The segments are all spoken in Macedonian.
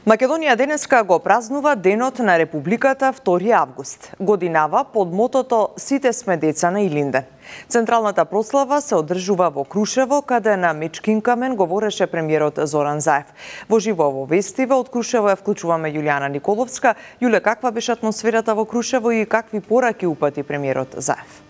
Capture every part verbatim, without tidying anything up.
Македонија денеска го празнува Денот на Републиката втори август. Годинава под мотото "Сите сме деца на Илинден". Централната прослава се одржува во Крушево, каде на Мечкин камен говореше премиерот Зоран Заев. Во живо во вестива од Крушево ја вклучуваме Јулијана Николовска. Јуле, каква беше атмосферата во Крушево и какви пораки упати премиерот Заев?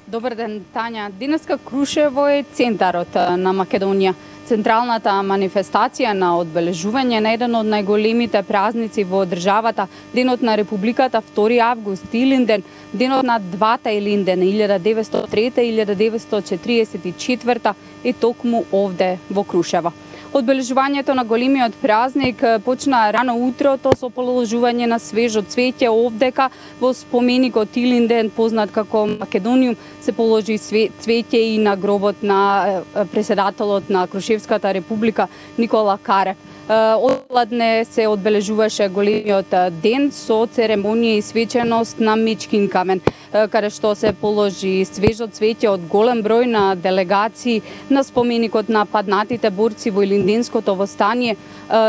Добар ден, Тања. Денеска Крушево е центарот на Македонија. Централната манифестација на одбележување на еден од најголемите празници во државата, Денот на Републиката втори август, Илинден, денот на двата Илиндена, илјада деветстотини и трета и илјада деветстотини и четиридесет и четврта, е токму овде во Крушево. Одбележувањето на големиот празник почна рано утрото со положување на свежо цвеќе овдека во споменикот Илинден, познат како Македониум, се положи цвеќе и на гробот на преседателот на Крушевската република Никола Карев. Одладне се одбележуваше големиот ден со церемонија и свеченост на Мечкин камен, каде што се положи свежо цвеќе од голем број на делегации на споменикот на паднатите борци во Илинденското востание.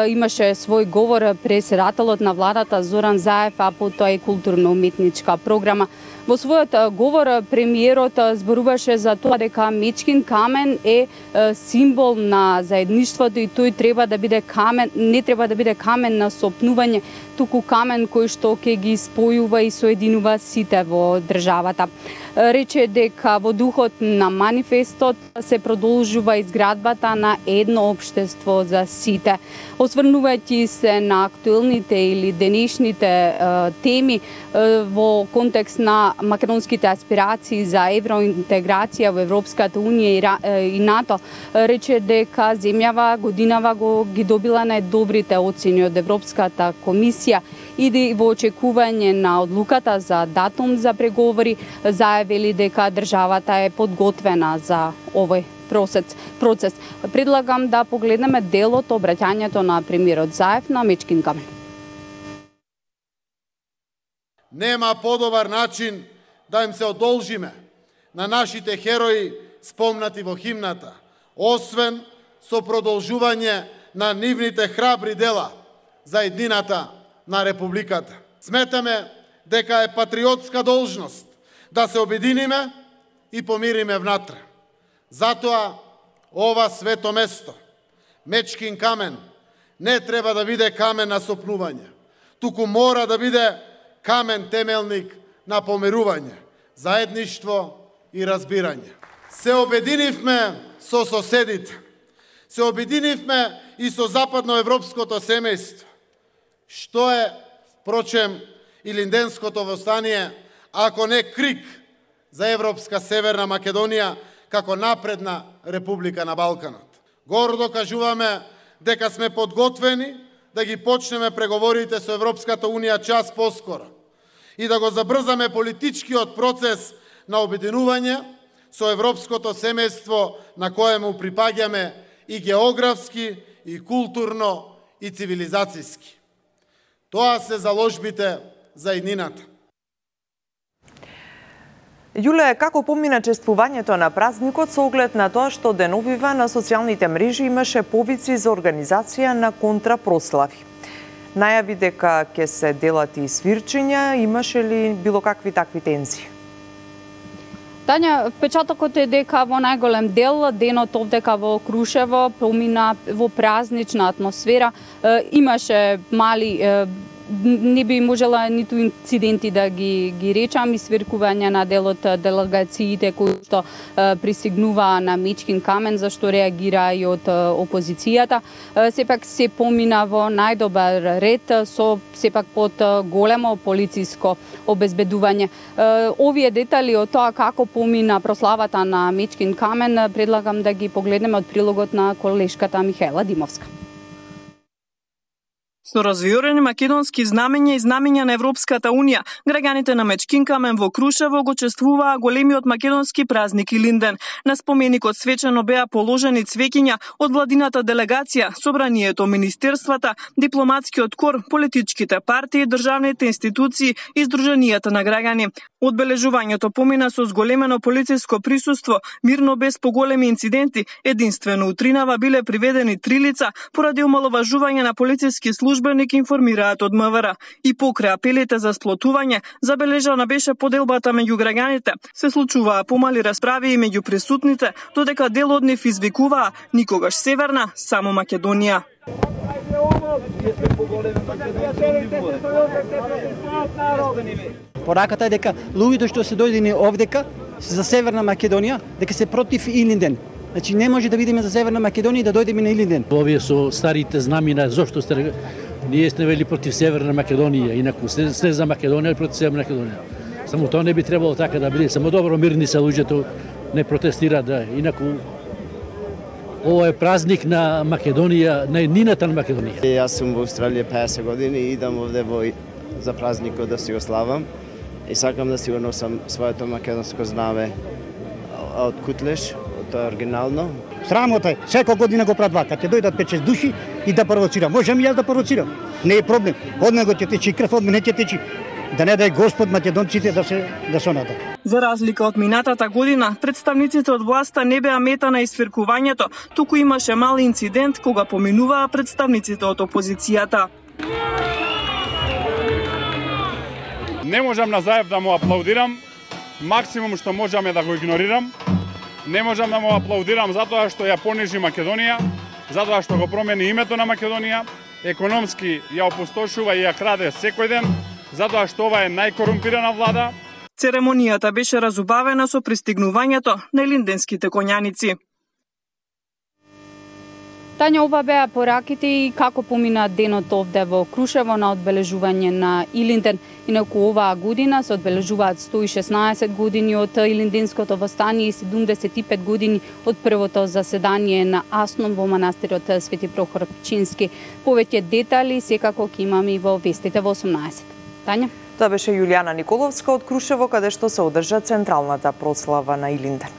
Имаше свој говор преседателот на владата Зоран Заев, а потоа и културно-уметничка програма. Во својот говор премиерот зборуваше за тоа дека Мечкин камен е символ на заедништвото и тој треба да биде камен, не треба да биде камен на сопнување, туку камен кој што ќе ги спојува и соединува сите во државата. Рече дека во духот на манифестот се продолжува изградбата на едно општество за сите. Осврнувајќи се на актуелните или денешните е, теми е, во контекст на македонските аспирации за евроинтеграција во Европската унија и, и НАТО, рече дека земјава годинава го ги добила најдобрите оцени од Европската комисија и во очекување на одлуката за датум за преговори, заявили дека државата е подготвена за овој процес. процес. Предлагам да погледнеме дел од обраќањето на премиерот Заев на Мечкин камен. Нема подобар начин да им се одолжиме на нашите херои спомнати во химната, освен со продолжување на нивните храбри дела за еднината на Републиката. Сметаме дека е патриотска должност да се обединиме и помириме внатре. Затоа ова свето место, Мечкин камен, не треба да биде камен на сопнување, туку мора да биде камен темелник на помирување, заедништво и разбирање. Се обединивме со соседите, се обединивме и со западноевропското семејство, што е, впрочем, Илинденското востание, ако не крик за Европска Северна Македонија како напредна република на Балканот. Гордо кажуваме дека сме подготвени да ги почнеме преговорите со Европската Унија час поскоро и да го забрзаме политичкиот процес на обединување со европското семејство на коему припаѓаме и географски, и културно, и цивилизацијски. Тоа се заложбите за еднината. Јуле, како помина чествувањето на празникот со оглед на тоа што деновива на социјалните мрежи имаше повици за организација на контрапрослави? Најави дека ќе се делат и свирчења, имаше ли било какви такви тензии? Тања, впечатокот е дека во најголем дел денот овдека во Крушево помина во празнична атмосфера. Имаше мали, не би можела ниту инциденти да ги, ги речам, и свиркување на дел од делегациите кои што пристигнува на Мечкин камен, зашто реагира и од опозицијата. Сепак се помина во најдобар ред, со сепак под големо полициско обезбедување. Овие детали од тоа како помина прославата на Мечкин камен предлагам да ги погледнеме од прилогот на колешката Михаела Димовска. Со развиорени македонски знамења и знамења на Европската Унија, граѓаните на Мечкин камен во Крушево го чествуваа големиот македонски празник Илинден. На споменикот свечено беа положени цвеќиња од владината делегација, собранието, министерствата, дипломатскиот кор, политичките партии, државните институции и здруженијата на граѓани. Одбележувањето помина со зголемено полициско присуство, мирно без поголеми инциденти. Единствено утринава биле приведени три лица поради омаловажување на полициски службеник, информираат од МВР. И покрај апелите за сплотување, забележана беше поделбата меѓу граѓаните. Се случуваа помали расправи и меѓу присутните, додека дел од нив извикуваа никогаш Северна, само Македонија. Пораката е дека луѓето што се дојдени овдека за Северна Македонија, дека се против Илинден. Значи не може да видиме за Северна Македонија да дојдеме на Илинден. Овие со старите знамина, зошто сте ние сте вели против Северна Македонија, инаку се, се за Македонија против Северна Македонија. Само тоа не би требало така да биде, само добро мирни се луѓето, не протестираат, да, инаку ова е празник на Македонија, на еднината на Македонија. Јас сум во Австралија песет години и идам овде во за празникот да си го славам и сакам да си го носам своето македонско знаме од Кутлеш, тоа е оригинално. Срамота е, секоја година го прават вака, ќе дојдат пет шест души и да провоцирам. Можам и јас да провоцирам. Не е проблем. Од него ќе течи крв, од мене ќе течи. Да не дај Господ македонците да се да се надат. За разлика од минатата година, представниците од власта не беа мета на исфиркувањето, туку имаше мал инцидент кога поминуваа представниците од опозицијата. Не можам на Заев да му аплаудирам, максимум што можам е да го игнорирам. Не можам да му аплаудирам затоа што ја понижи Македонија, затоа што го промени името на Македонија, економски ја опустошува и ја краде секој ден, затоа што ова е најкорумпирана влада. Церемонијата беше разубавена со пристигнувањето на илинденските коњаници. Тања, ова беа пораките и како помина денот овде во Крушево на одбележување на Илинден. Инаку оваа година се одбележуваат сто и шеснаесет години од Илинденското востание и седумдесет и пет години од првото заседание на Асном во манастирот Свети Прохор Пчински. Повеќе детали секако ќе имаме и во вестите во осумнаесет. Тања? Тоа беше Јулијана Николовска од Крушево, каде што се одржа централната прослава на Илинден.